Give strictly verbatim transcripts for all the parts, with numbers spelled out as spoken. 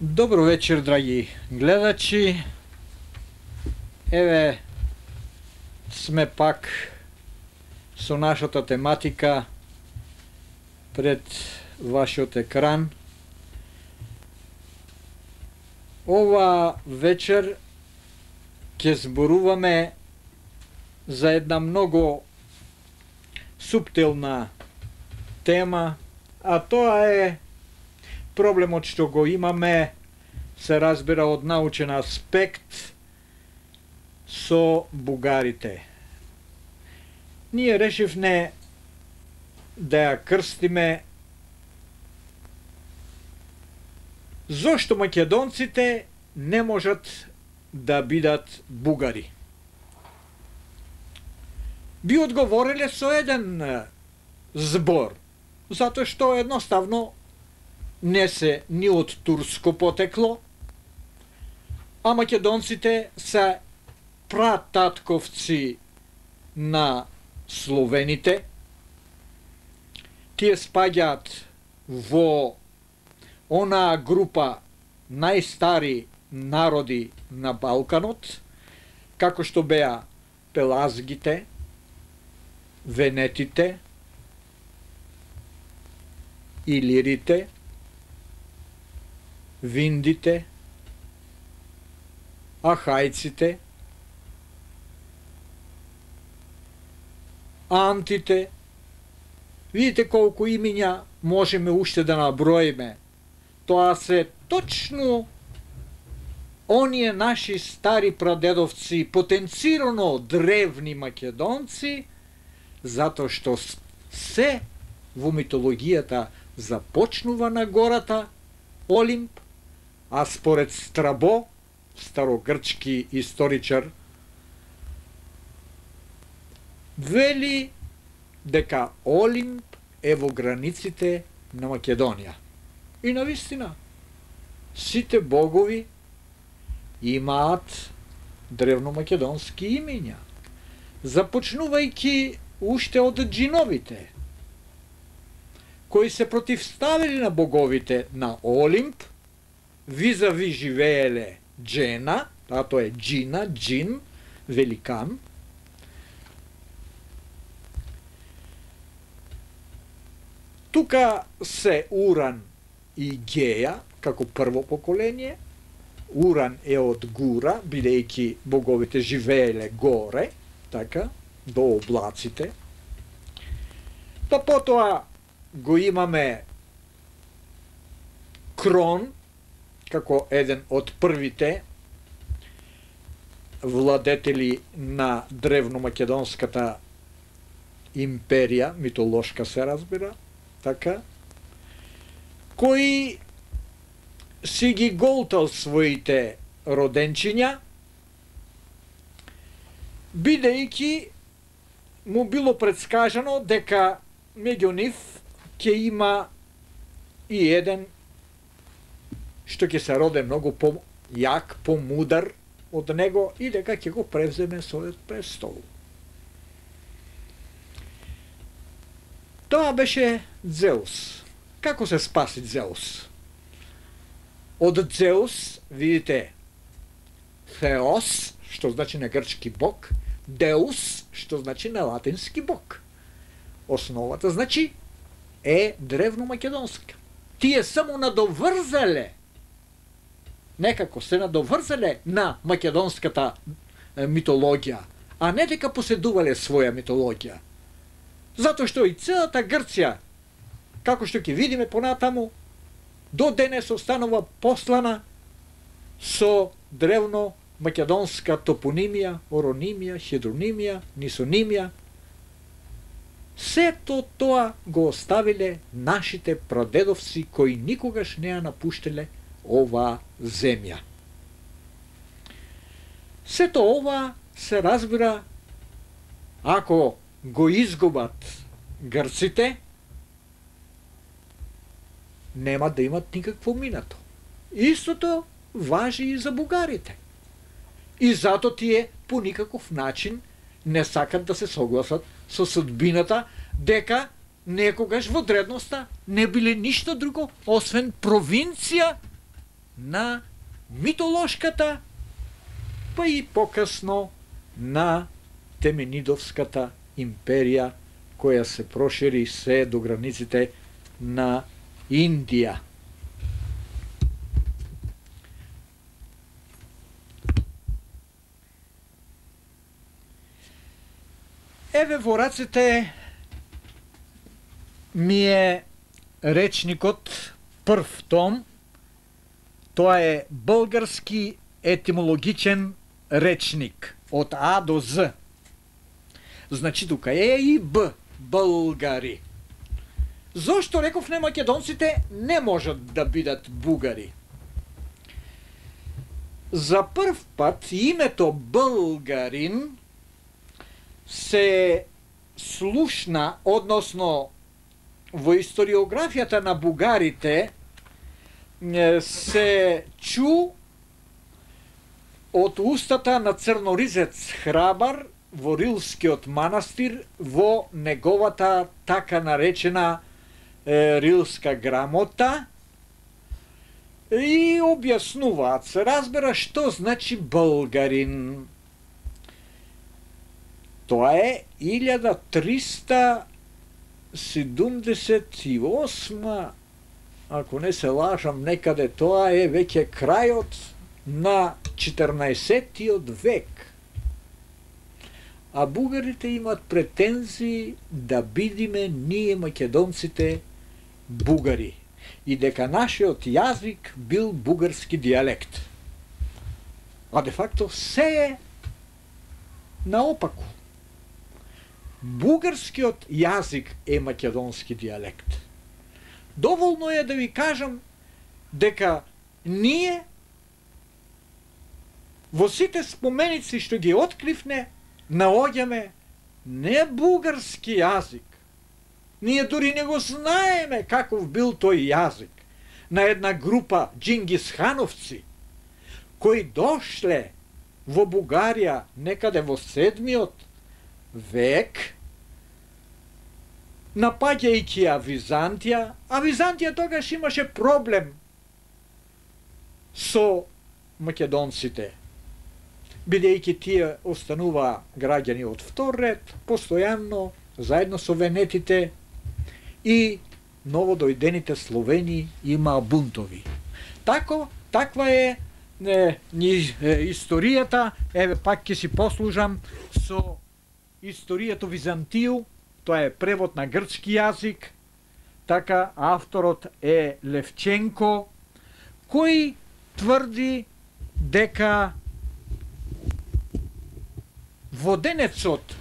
Добро вечер, драги гледачи. Еве сме пак со нашата тематика пред вашиот екран. Ова вечер ќе зборуваме за една многу суптилна тема, а тоа е проблемот што го имаме, се разбира од научен аспект, со бугарите. Ние решивме да ја крстиме зошто македонците не можат да бидат бугари. Би одговориле со еден збор, затоа што едноставно не се ни од турско потекло, а македонците се прататковци на словените. Тие спаѓаат во онаа група најстари народи на Балканот, како што беа пелазгите, венетите, илирите, виндите, ахајците, антите. Видите колку имиња можеме уште да наброиме. Тоа се точно оние наши стари прадедовци, потенцирано древни македонци, затоа што се во митологијата започнува на гората Олимп, а според Страбо, старогрчки историчар, вели дека Олимп е во границите на Македонија. И навистина, сите богови имаат древномакедонски имиња, започнувајќи уште од джиновите, кои се противставили на боговите на Олимп, визави живееле Джена, а тоа е Джина, Джин, великан. Тука се Уран и Геја, како прво поколение. Уран е од Гура, бидејќи боговите живееле горе, така, до облаците. Па потоа го имаме Крон, како еден од првите владетели на древномакедонската империја, митолошка се разбира, така, кој си ги голтал своите роденчиња, бидејќи му било предскажано дека меѓу нив ќе има и еден што ќе се роде многу по-јак, по-мудар од него и дека ќе го превземе својот престол. Тоа беше Дзеус. Како се спаси Дзеус? Од Дзеус, видите, Θεός, што значи на грчки бог, Деус, што значи на латински бог. Основата, значи, е древномакедонска. Тие само надоврзале, некако се надоврзале на македонската митологија, а не дека поседувале своја митологија. Затоа што и целата Грција, како што ќе видиме понатаму, до денес останува послана со древно македонска топонимија, оронимија, хидронимија, нисонимија. Сето тоа го оставиле нашите прадедовци кои никогаш не ја напуштеле оваа земја. Сето ова се разбира ако го изгубат грците, нема да имат никакво минато. Истото важи и за бугарите. И зато тие по никаков начин не сакат да се согласат со судбината дека некогаш во древноста не биле ништо друго освен провинција на митолошката, па и покасно на Теменидовската империја, која се прошири се до границите на Индија. Еве во рацете ми е речникот, прв том, тоа е Български етимологичен речник од А до З. Значи тука е и Б, българи. Зошто рековме македонците не можат да бидат бугари? За прв пат името българин се слушна, односно во историографијата на бугарите се чу од устата на црноризец Храбар во Рилскиот манастир во неговата така наречена е, Рилска грамота и објаснуваат, се разбера што значи българин. Тоа е илјада триста седумдесет и осма, ако не се лажам, некаде тоа е веќе крајот на четрнаесеттиот век. А бугарите имат претензии да бидиме ние македонците бугари и дека нашиот јазик бил бугарски дијалект. А де факто се е наопаку. Бугарскиот јазик е македонски дијалект. Доволно е да ви кажам дека ние во сите споменици што ги откривне наоѓаме не бугарски јазик. Ние дури не го знаеме каков бил тој јазик на една група джингисхановци кои дошле во Бугарија некаде во седмиот век, напаѓајќи ја Византија, а Византија тогаш имаше проблем со македонците, бидејќи тие остануваа граѓани од втор ред, постојано, заедно со венетите, и новодојдените Словени имаа бунтови. Тако, таква е не, ни, е, историјата, еве пак ќе си послужам со историјата Византију, тоа е превод на грчки јазик, така авторот е Левченко, кој тврди дека воденецот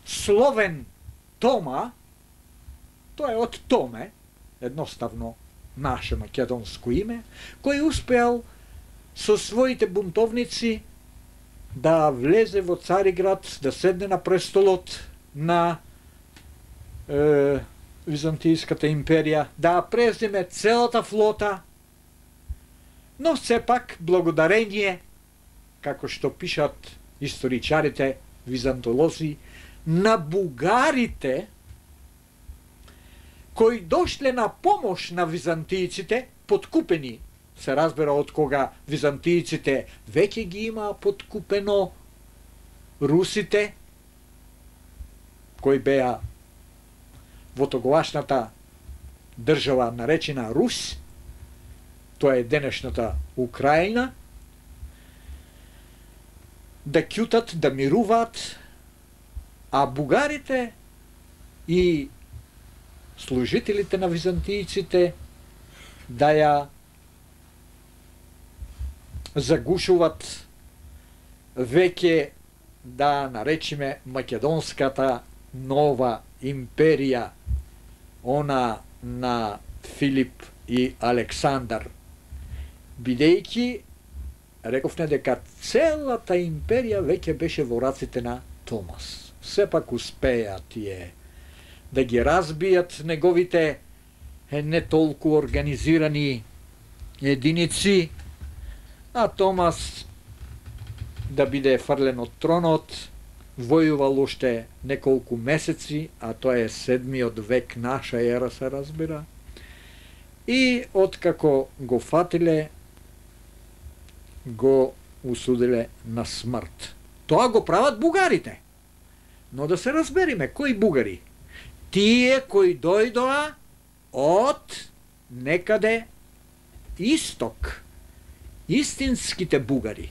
Словен Тома, тоа е од Томе, едноставно наше македонско име, кој успеал со своите бунтовници да влезе во Цариград, да седне на престолот на е, Византијската империја, да преземе целата флота, но сепак благодарение, како што пишат историчарите, византолози, на бугарите кои дошле на помош на византијците, подкупени, се разбира од кога византијците веќе ги имаа подкупено русите, кои беа во тогавашната држава наречена Рус, тоа е денешната Украина, да ќутат, да мируваат, а бугарите и служителите на византијците да ја загушуват веќе, да наречиме, македонската нова империја, она на Филип и Александар, бидејќи рековме дека целата империја веќе беше во раците на Томас. Сепак успеа тие да ги разбијат неговите не толку организирани единици, а Томас да биде фрлен од тронот, војувал уште неколку месеци, а тоа е седмиот век наша ера, се разбира, и откако го фатиле, го усудиле на смрт. Тоа го прават бугарите. Но да се разбериме, кои бугари? Тие кои дојдоа од некаде исток. Истинските бугари.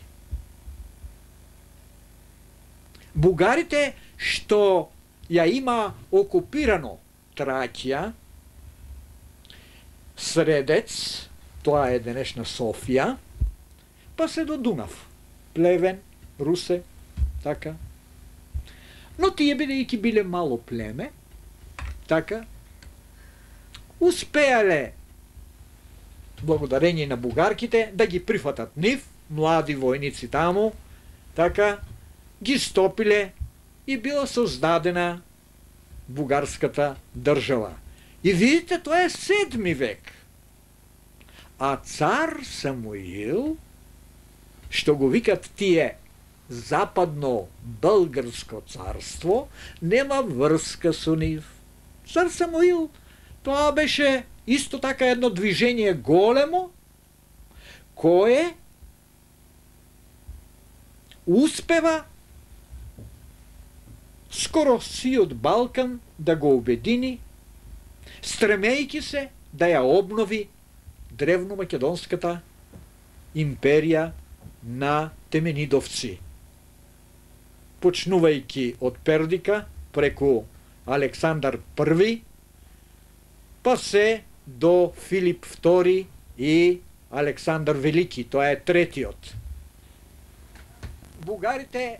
Бугарите што ја има окупирано Тракија, Средец, тоа е денешна Софија, па се до Дунав, Плевен, Русе, така. Но тие бидејќи биле мало племе, така, успеале, благодарение на бугарките, да ги прифатат нив, млади војници таму, така, ги стопиле и била создадена бугарската држава. И видите, тоа е седми век. А цар Самуил, што го викат тие западно Българско царство, нема врска со нив. Цар Самуил, тоа беше исто така едно движење големо, кое успева скоро сиот Балкан да го обедини, стремејќи се да ја обнови древно-македонската империја на теменидовци. Почнувајќи од Пердика, преку Александар Први, па се до Филип Втори и Александар Велики, тоа е третиот. Бугарите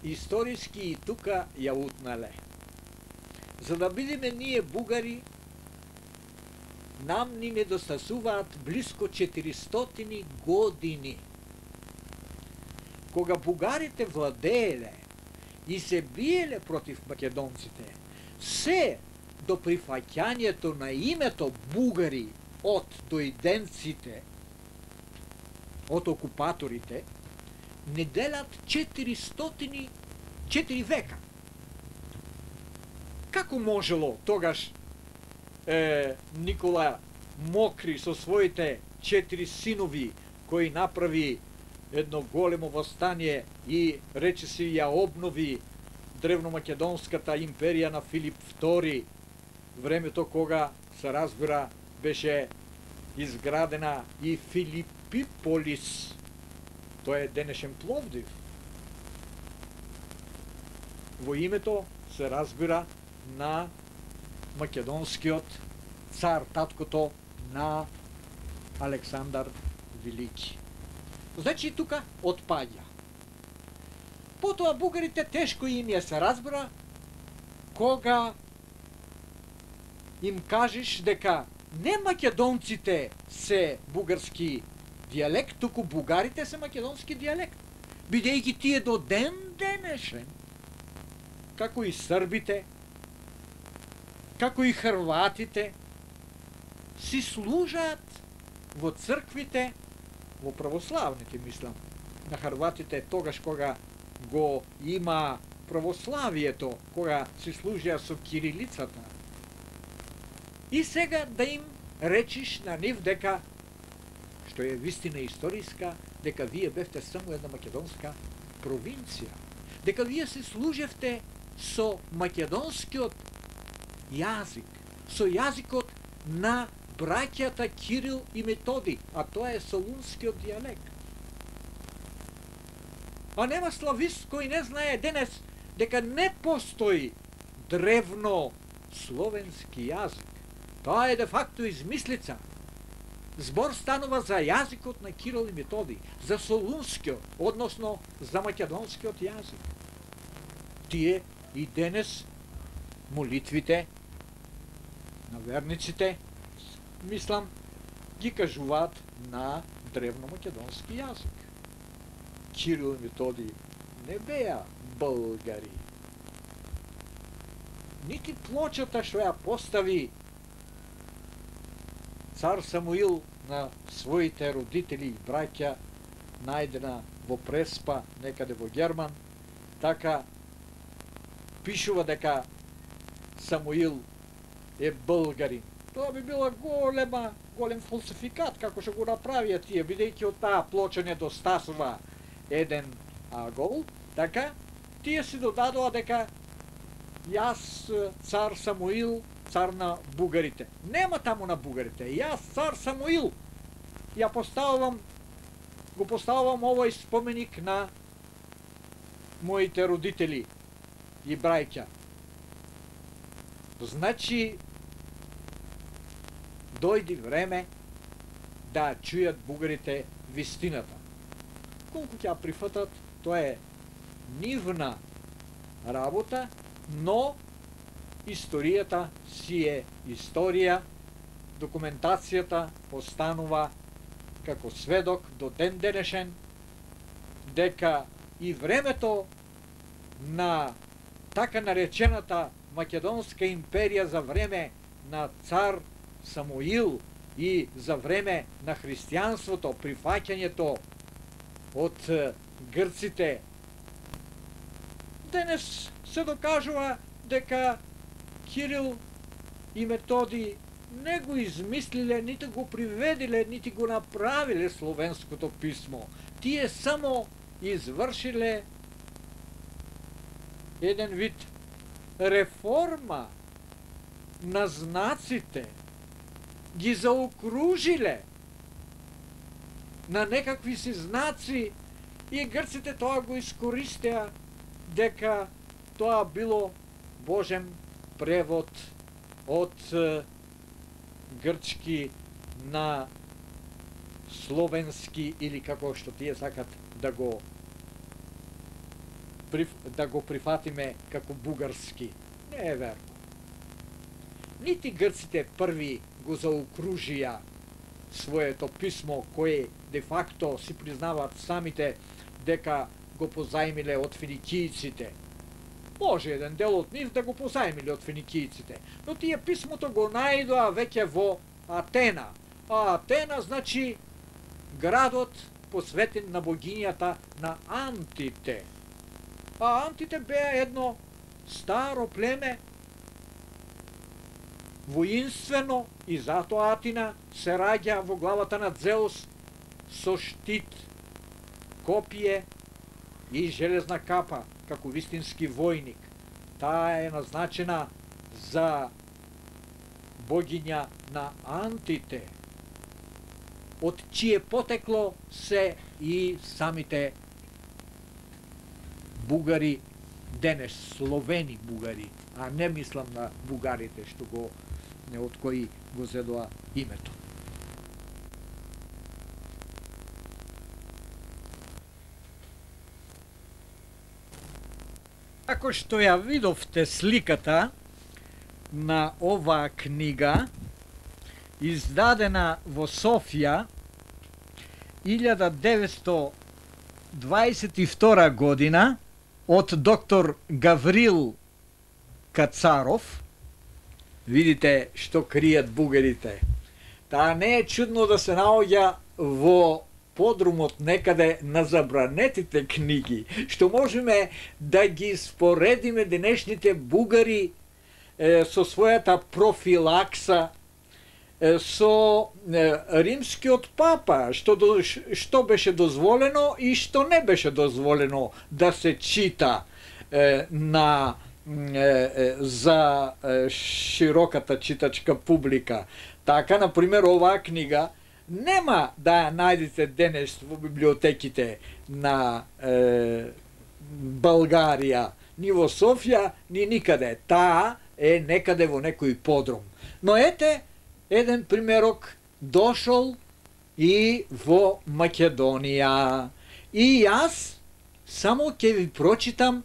историски и тука ја утнале. За да бидеме ние бугари, нам ни недостасуваат близко четиристотини години. Кога бугарите владееле и се биеле против македонците, се до прифаќањето на името бугари од дојденците, од окупаторите, не делат четиристотини четири века. Како можело тогаш е, Никола Мокри со своите четири синови, кои направи едно големо востание и речиси ја обнови древномакедонската империја на Филип Втори, времето кога се разбира беше изградена и Филипиполис, тоа е денешен Пловдив. Во името се разбира на македонскиот цар, таткото на Александар Велики. Значи тука отпаѓа. Потоа бугарите тешко им ја се разбира кога им кажеш дека не македонците се бугарски дијалект, туку бугарите се македонски дијалект. Бидејќи тие до ден денешен, како и србите, како и хрватите, си служат во црквите, во православните, мислам, на хрватите тогаш кога го има православието, кога си служија со кирилицата. И сега да им речиш на нив дека, што е вистина историска, дека вие бевте само една македонска провинција, дека вие се служевте со македонскиот јазик, со јазикот на браќата Кирил и Методи, а тоа е солунскиот дијалект. А нема славист кој не знае денес дека не постои древно словенски јазик. Тоа е де факто измислица. Збор станува за јазикот на Кирил и Методи, за солунскиот, односно за македонскиот јазик. Тие и денес молитвите на верниците, мислам, ги кажуваат на древномакедонски јазик. Кирил и Методи не беа българи. Нити плочата што ја постави цар Самуил на своите родители и браќа, најдена во Преспа, некаде во Герман, така пишува дека Самуил е българин. Тоа би била голема, голем фалсификат, како што го направија тие, бидејќи од таа плоча недостасува еден агол, така, тие си додадоа дека јас цар Самуил, цар на бугарите. Нема таму на бугарите, јас цар Самуил, ја поставувам, го поставувам овој споменик на моите родители и брајќа. Значи, дојди време да чујат бугарите вистината. Колку ќе ја прифатат, тоа е нивна работа, но историјата си е историја, документацијата останува како сведок до ден денешен дека и времето на така наречената Македонска империја за време на цар Самуил и за време на христијанството, прифаќањето од грците, денес се докажува дека Кирил и Методи не го измислиле, нити го приведиле, нити го направиле словенското писмо. Тие само извршиле еден вид реформа на знаците, ги заокружиле на некакви си знаци и грците тоа го искористеа дека тоа било Божен превод од грчки на словенски или како што тие сакат да го да го прифатиме како бугарски. Не е верно. Нити грците први го заокружија своето писмо, кое де факто си признаваат самите дека го позајмиле од финикијците. Може еден дел од нив да го позајмиле од финикијците, но тие писмото го најдоа веќе во Атена. А Атена значи градот посветен на богињата на Антите. А Антите беа едно старо племе, воинствено, и затоа Атина се раѓа во главата на Зеус со штит, копие и железна капа, како вистински војник. Таа е назначена за богиња на Антите, од чие потекло се и самите бугари денес, словени бугари, а не мислам на бугарите што го од кои го зедоа името. Како што ја видовте сликата на оваа книга, издадена во Софија илјада деветстотини дваесет и втора година од доктор Гаврил Кацаров, видите што кријат бугарите. Таа не е чудно да се наоѓа во подрумот некаде на забранетите книги, што можеме да ги споредиме денешните бугари е, со својата профилакса, е, со е, римскиот папа, што, до, што беше дозволено и што не беше дозволено да се чита е, на за широката читачка публика. Така, например, оваа книга нема да ја најдете денес во библиотеките на е, Българија, ни во Софија, ни никаде. Таа е некаде во некој подрум. Но ете, еден примерок дошол и во Македонија. И јас само ќе ви прочитам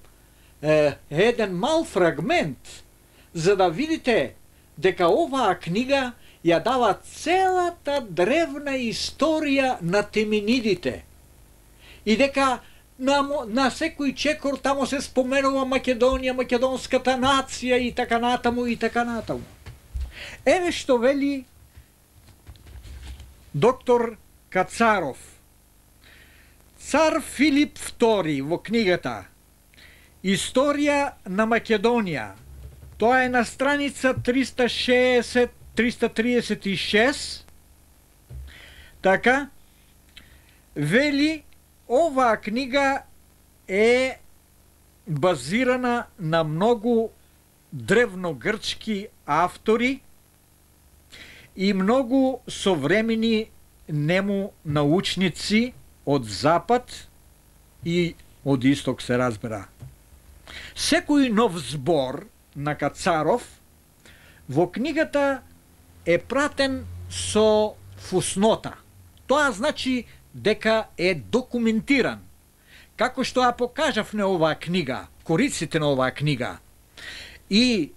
еден мал фрагмент, за да видите дека оваа книга ја дава целата древна историја на теминидите и дека на, на секој чекор тамо се споменува Македонија, македонската нација и така натаму и така натаму. Еве што вели доктор Кацаров. Цар Филип втори во книгата Историја на Македонија. Тоа е на страница триста шеесет триста триесет и шест, така, вели, оваа книга е базирана на многу древногрчки автори и многу современи нему научници од запад и од исток, се разбира. Секој нов збор на Кацаров во книгата е пратен со фуснота. Тоа значи дека е документиран. Како што ја покажавме оваа книга, кориците на оваа книга. И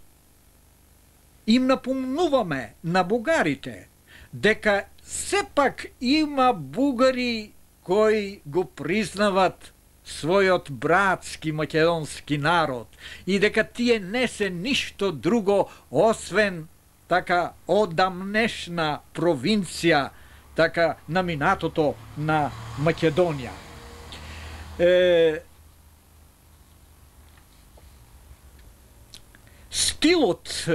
им напомнуваме на бугарите дека сепак има бугари кои го признават својот братски македонски народ и дека тие не се ништо друго освен така одамнешна провинција, така на минатото на Македонија. Е, стилот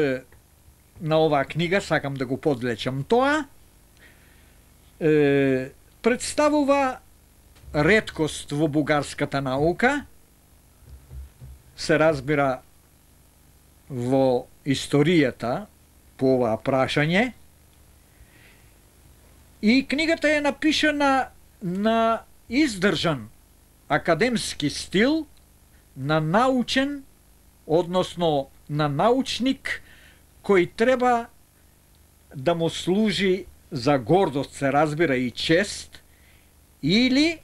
на оваа книга, сакам да го подлечам тоа, е, представува реткост во бугарската наука, се разбира во историјата по оваа прашање, и книгата е напишана на издржан академски стил, на научен, односно на научник, кој треба да му служи за гордост, се разбира, и чест, или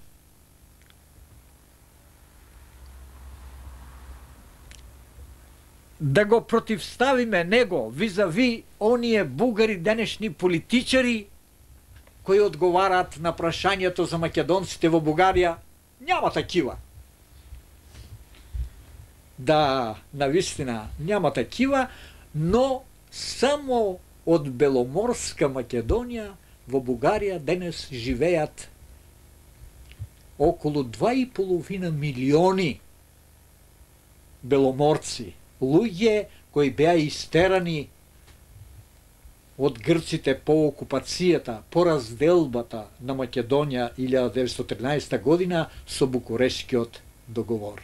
да го противставиме него визави оние бугари денешни политичари кои одговараат на прашањето за македонците во Бугарија. Няма такива. Да, навистина, няма такива, но само од Беломорска Македонија во Бугарија денес живеат околу два и половина милиони беломорци, луѓе кои беа истерани од грците по окупацијата, по разделбата на Македонија илјада деветстотини и тринаесета година со Букурешкиот договор.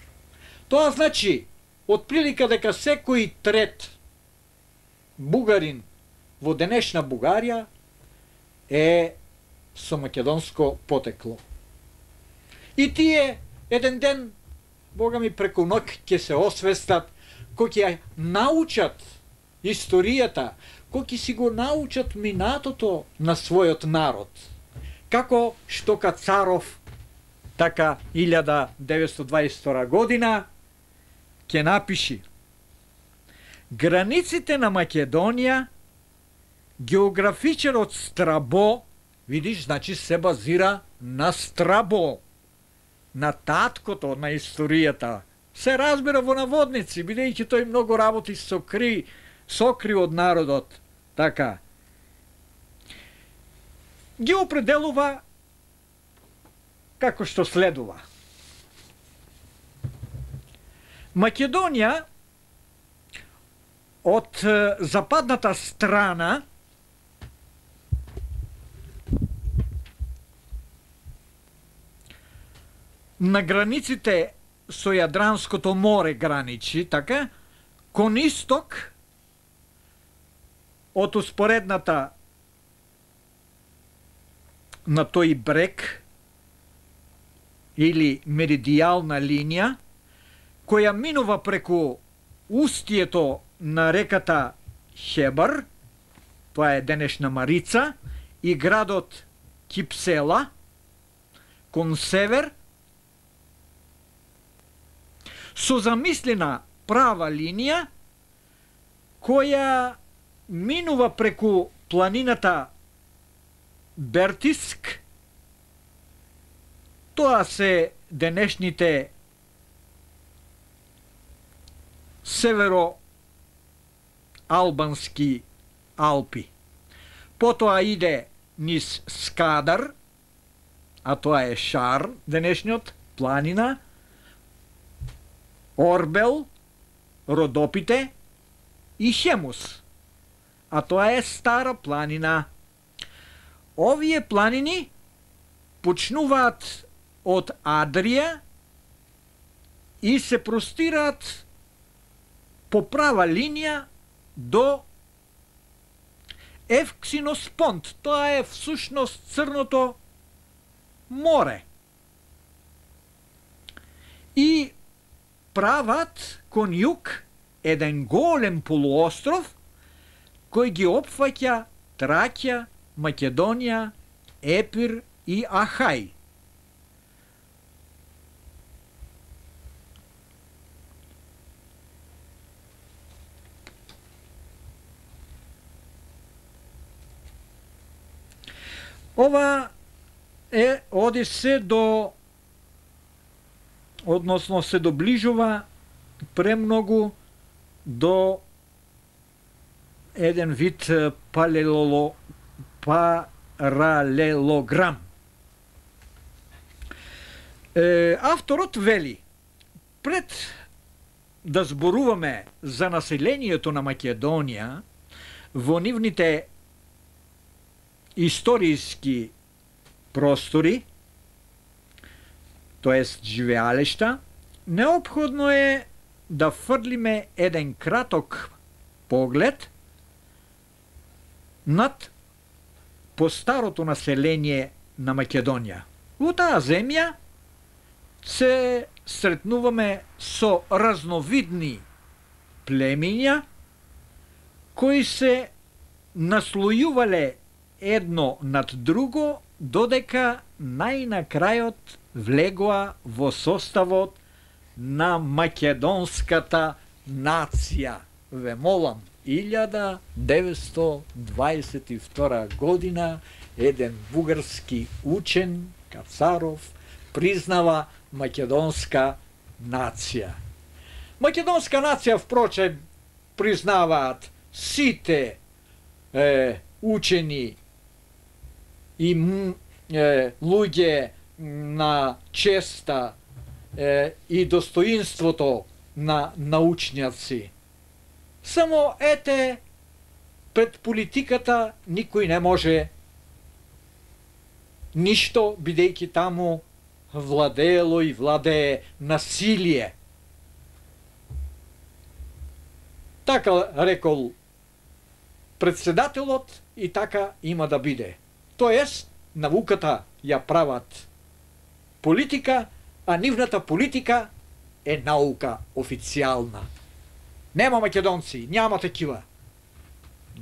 Тоа значи, од прилика дека секој трет бугарин во денешна Бугарија е со македонско потекло. И тие еден ден, Бога ми, преку ноќ ќе се освестат, кој ќе научат историјата, кој ќе си го научат минатото на својот народ. Како што Кацаров, така илјада деветстотини дваесет и втора година, ќе напиши: границите на Македонија, географичарот Страбо, видиш, значи се базира на Страбо, на таткото на историјата. Се разбира во наводници, бидејќи тој многу работи сокри, сокри од народот. Така. Ги определува како што следува. Македонија од западната страна на границите со Јадранското море граничи, така, кон исток од успоредната на тој брег или меридијална линија, која минува преку устието на реката Хебар, тоа е денешна Марица, и градот Кипсела, кон север, со замислена права линија, која минува преку планината Бертиск, тоа се денешните северо-албански Алпи. Потоа иде низ Скадар, а тоа е Шар, денешниот планина, Орбел, Родопите и Хемус. а тоа е Стара планина. Овие планини почнуваат од Адрија и се простираат по права линија до Евксиноспонт. Тоа е всушност Црното море. И прават кон југ еден голем полуостров кој ги опфаќа Тракија, Македонија, Епир и Ахај. Ова е, оди се до, односно се доближува премногу до еден вид палелоло, паралелограм. Е, авторот вели, пред да зборуваме за населението на Македонија во нивните историски простори, тоест живеалешта, неопходно е да фрлиме еден краток поглед над постарото население на Македонија. Во таа земја се сретнуваме со разновидни племиња кои се наслојувале едно над друго, додека најнакрајот влегоа во составот на македонската нација. Ве молам, илјада деветстотини дваесет и втора година еден бугарски учен, Кацаров, признава македонска нација. Македонска нација, впрочем, признаваат сите е, учени и е, луѓе на честа е, и достоинството на научњаци. Само ете, пред политиката никој не може ништо, бидејќи таму владеело и владее насилие. Така рекол председателот и така има да биде. Тоест, науката ја прават политика, а нивната политика е наука официјална. Нема македонци, няма такива.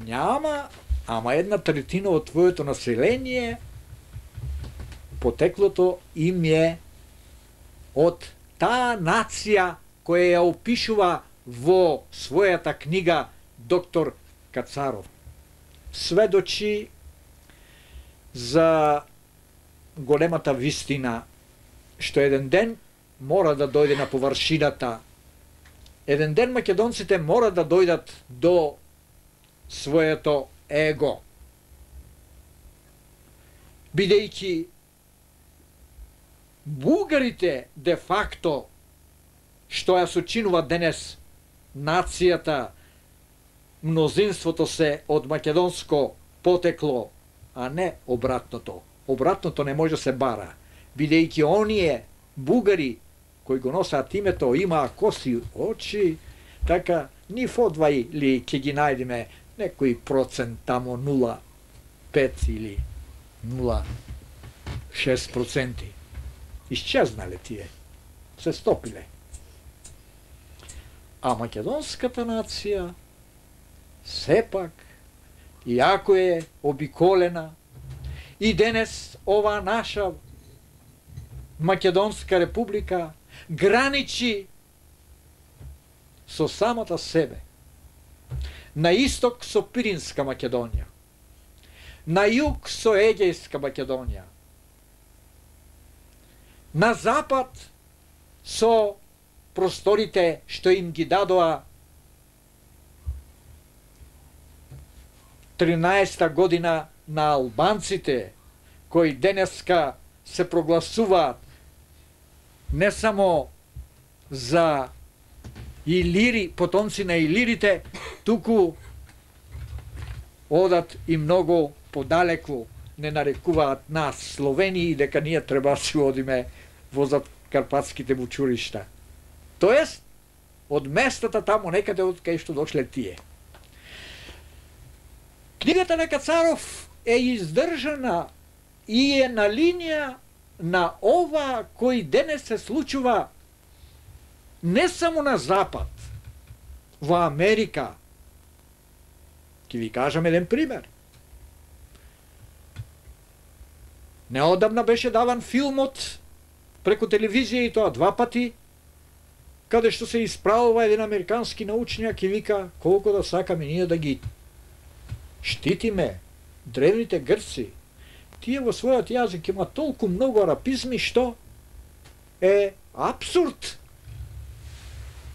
Няма, ама една третина од твоето население потеклото им е од таа нација која ја опишува во својата книга доктор Кацаров. Сведочи за големата вистина што еден ден мора да дојде на површината. Еден ден македонците мора да дојдат до своето его. Бидејќи бугарите де факто што ја сочинува денес нацијата, мнозинството се од македонско потекло, а не обратното. Обратното не може да се бара, бидејќи оние бугари кои го носат името имаа коси очи, така ни фодвај ли ќе ги најдеме некој процент тамо нула целу пет или нула целу шест проценти. Исчезнале тие, се стопиле. А македонската нација сепак, иако е обиколена, и денес ова наша Македонска република граничи со самата себе. На исток со Пиринска Македонија, на југ со Егејска Македонија, на запад со просторите што им ги дадоа тринаесетта година на албанците, кои денеска се прогласуваат не само за илири, потомци на илирите, туку одат и многу подалеку, не нарекуваат нас Словении, дека ние треба да си одиме во Карпатските вучуришта. Тоест, од местата тамо некаде од кај што дошле тие. Книгата на Кацаров е издржана и е на линија на ова кој денес се случува не само на Запад, во Америка. Ке ви кажам еден пример. Неодамна беше даван филмот преку телевизија и тоа два пати, каде што се исправува еден американски научњак и вика колку да сакаме ние да ги штитиме древните грци. Тие во својот јазик има толку многу арапизми што е апсурд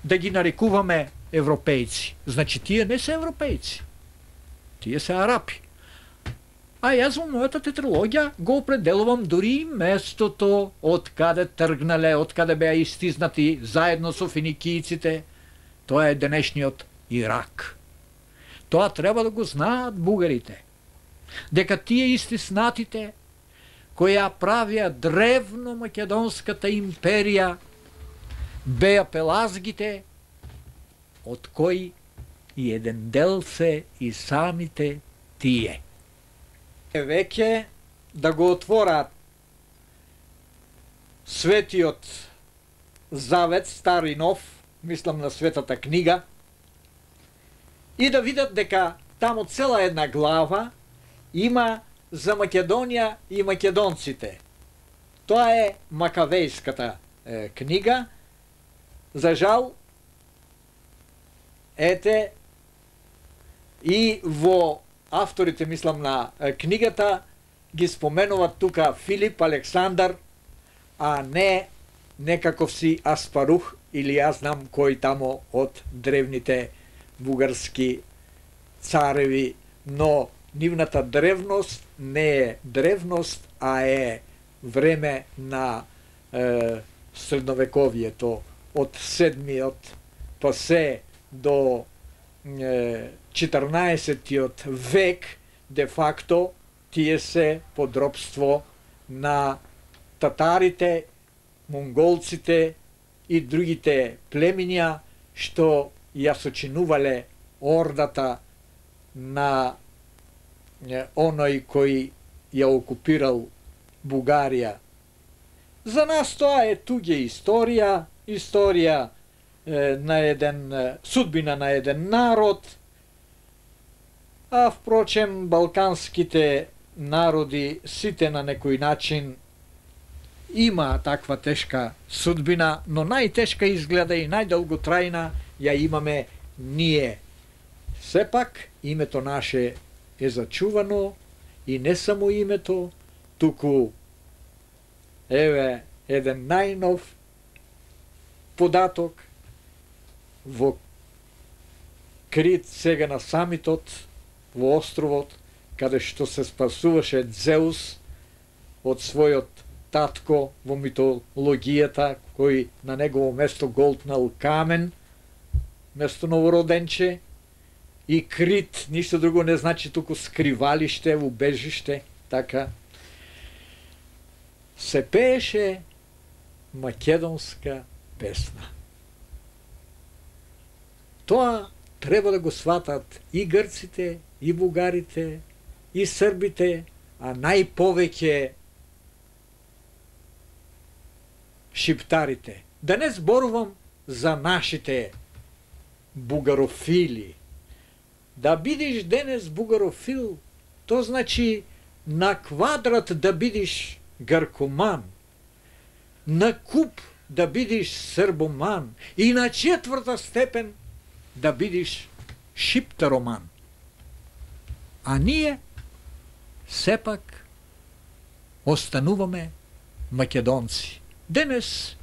да ги нарекуваме европејци. Значи тие не се европејци. Тие се арапи. А јас во мојата тетралогија го определувам дури местото од каде тргнале, од каде беа истизнати заедно со финикијците. Тоа е денешниот Ирак. Тоа треба да го знаат бугарите. Дека тие истиснатите кои ја правија древно македонската империја беа пелазгите, од кои и еден дел се и самите тие. Веќе да го отворат Светиот Завет, стар и нов, мислам на Светата книга, и да видат дека тамо цела една глава има за Македонија и македонците. Тоа е Макавејската е, книга. За жал, ете, и во авторите, мислам, на книгата ги споменуват тука Филип, Александар, а не некаков си Аспарух или јас знам кој тамо од древните бугарски цареви, но нивната древност не е древност, а е време на е, средновековието, од седмиот па се до е, четрнаесеттиот век, де факто тие се подробство на татарите, монголците и другите племиња што ја сочинувале ордата на оној кој ја окупирал Бугарија. За нас тоа е туѓа историја, историја е, на еден, судбина на еден народ, а впрочем балканските народи сите на некој начин има таква тешка судбина, но најтешка изгледа и најдолготрајна ја имаме ние. Сепак името наше е зачувано и не само името, туку еве еден најнов податок во Крит, сега на самитот во островот, каде што се спасуваше Дзеус од својот татко во митологијата, кој на негово место голтнал камен место новороденче, и Крит ништо друго не значи туку скривалиште, убежиште, така. Се пееше македонска песна. Тоа треба да го сватат и грците, и бугарите, и србите, а најповеќе шиптарите. Да не зборувам за нашите бугарофили. Да бидиш денес бугарофил, то значи на квадрат да бидиш гркоман, на куп да бидиш србоман и на четврта степен да бидиш шиптароман. А ние сепак остануваме македонци. Денес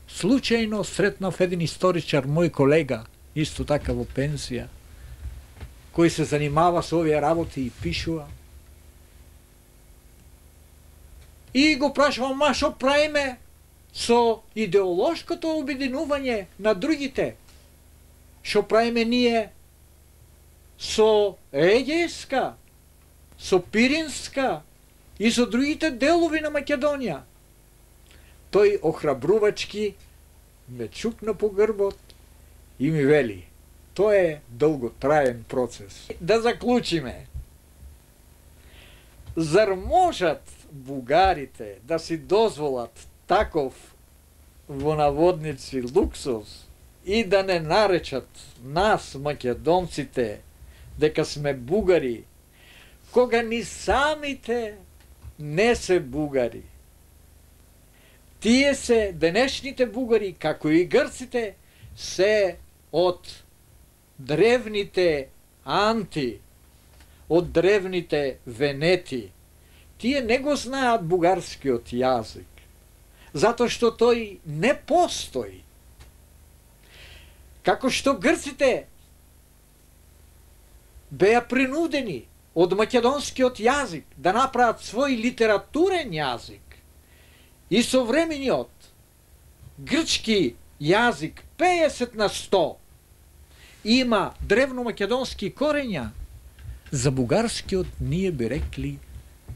случајно сретнав еден историчар, мој колега, исто така во пенсија, кој се занимава со овие работи и пишува. И го прашувам, ма шо правиме со идеолошкото обединување на другите? Шо правиме ние со Егејска со Пиринска и со другите делови на Македонија. Тој охрабрувачки ме чукна по грбот и ми вели: тоа е долготраен процес. Да заклучиме. Зар можат бугарите да си дозволат таков, во наводници, луксус и да не наречат нас, македонците, дека сме бугари, кога ни самите не се бугари? Тие се денешните бугари, како и грците, се од древните анти, од древните венети. Тие не го знаат бугарскиот јазик, затоа што тој не постои. Како што грците беа принудени од македонскиот јазик да направат свој литературен јазик, и современиот грчки јазик педесет на сто има древно-македонски корења, за бугарскиот ние би рекли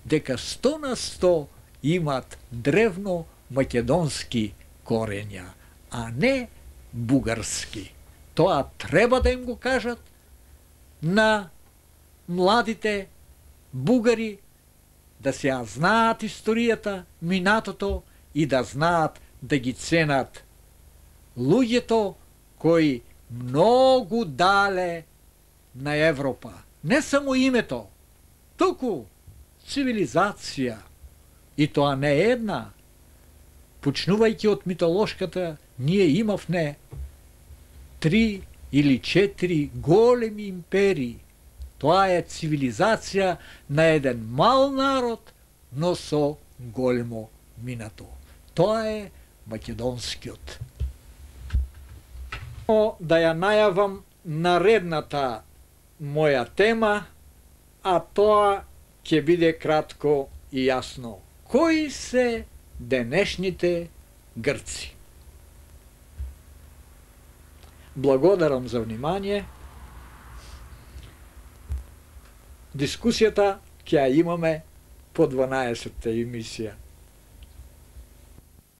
дека сто на сто имат древно-македонски корења, а не бугарски. Тоа треба да им го кажат на младите бугари, да се ја знаат историјата, минатото, и да знаат да ги ценат луѓето кои многу дале на Европа. Не само името, туку цивилизација. И тоа не е една. Почнувајќи од митолошката, ние имавме три или четири големи империи. Тоа е цивилизација на еден мал народ, но со големо минато. Тоа е македонскиот. Да ја најавам наредната моја тема, а тоа ќе биде кратко и јасно. Кои се денешните грци? Благодарам за внимание. Дискусијата ќе ја имаме по дванаесетта емисија.